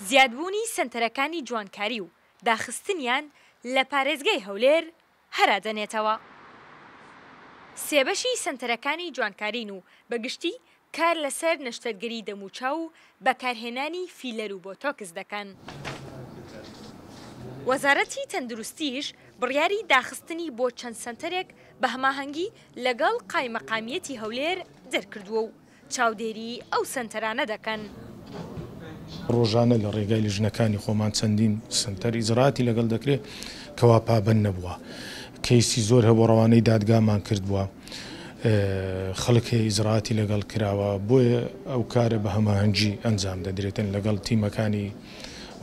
زیادبوونی سەنتەرەکانی جوانکاری و داخستنیان لە پارێزگای هەولێر هەرا دەنێتەوە. سێبەشی سەنتەرەکانی جوانکارین و بە گشتی کار لەسەر نەشتەرگەری دەموچاو و بەکارهێنانی فیلەر و بۆتۆکس دەکەن. وەزارەتی تەندروستیش بڕیاری داخستنی بۆ چەند سەنتەرێک بە هەماهەنگی لەگەڵ قایمەقامیەتی هەولێر دەرکردووە و چاودێری ئەو سەنتەرانە دەکەن. ڕۆژانە لە ڕێگای لیژنەکانی خۆمان چەندین سەنتەر ئیجرائاتی لەگەڵ دەکرێت کەوا پابەند نەبووە. کەیسی زۆر هەبووە ڕەوانەی دادگامان کردووە، خەڵک هەیە ئیجرائاتی لەگەڵ کراوە، بۆیە ئەو کارە بە هەماهەنگی ئەنجام دەدرێتن لەگەڵ تیمەکانی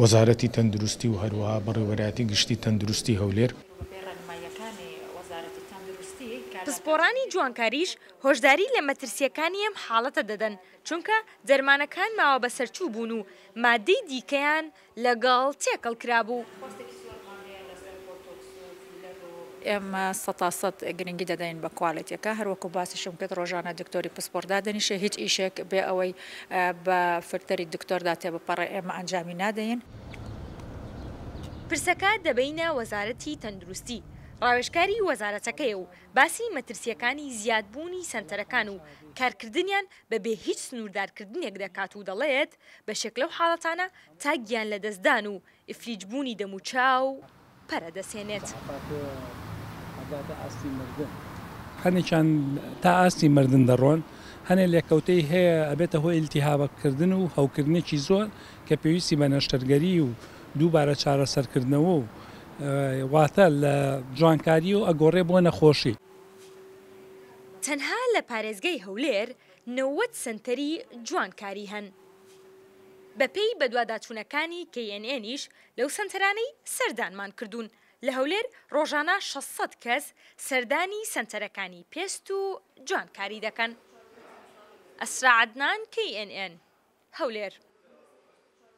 وەزارەتی تەندروستی و هەروەها بەڕێوەبەرایەتی گشتی تەندروستی هەولێر. پسپۆڕانی جوانکاریش هۆشداری لە مەترسییەکانی ئەم حاڵەتە دەدەن، چونکە دەرمانەکان ماوە بەسەرچوو بوون و ماددەی دیکەیان لەگەڵ تێکەڵ کرابوو. ئێمە سەتا سەد گرنگی دەدەین بە کوالێتیەکە، هەروەکو باسیشم کرد ڕۆژانە دکتۆری پسپۆڕ دادەنیشێ، هیچ ئیشێک بێ ئەوەی بە فلتەری دکتۆردا تێبپەڕێ ئێمە ئەنجامی نادەین. پرسەکە دەبەینە وەزارەتی تەندروستی، ڕاوێژکاری وەزارەتەکەیە و باسی مەترسییەکانی زیادبوونی سەنتەرەکان و کارکردنیان بەبێ هیچ سنووردارکردنێک دەکات و دەڵێت، بەشێک لەو حاڵەتانە تا گیانلەدەستدان و ئیفلیجبوونی دەموچاو پەرە دەسێنێت. هەنێکیان تا ئاستی مردن دەڕۆن، هەنێ لێکەوتەی هەیە ئەبێتە هۆی ئیلتیهابکردن و هەوکردنێکی زۆر کە پێویستی بە نەشتەرگەری و دووبارە چارەسەرکردنەوە و واتە لە جوانکاری و ئەگۆڕێ بۆ نەخۆشی. تەنها لە پارێزگای هەولێر 90 سەنتەری جوانکاری هەن. بەپێی بەدواداچوونەکانی KNN یش لەو سەنتەرانەی سەردانمان کردوون لە هەولێر ڕۆژانە 600 کەس سەردانی سەنتەرەکانی پێست و جوانکاری دەکەن. ئەسرا عەدنان، KNN، هەولێر.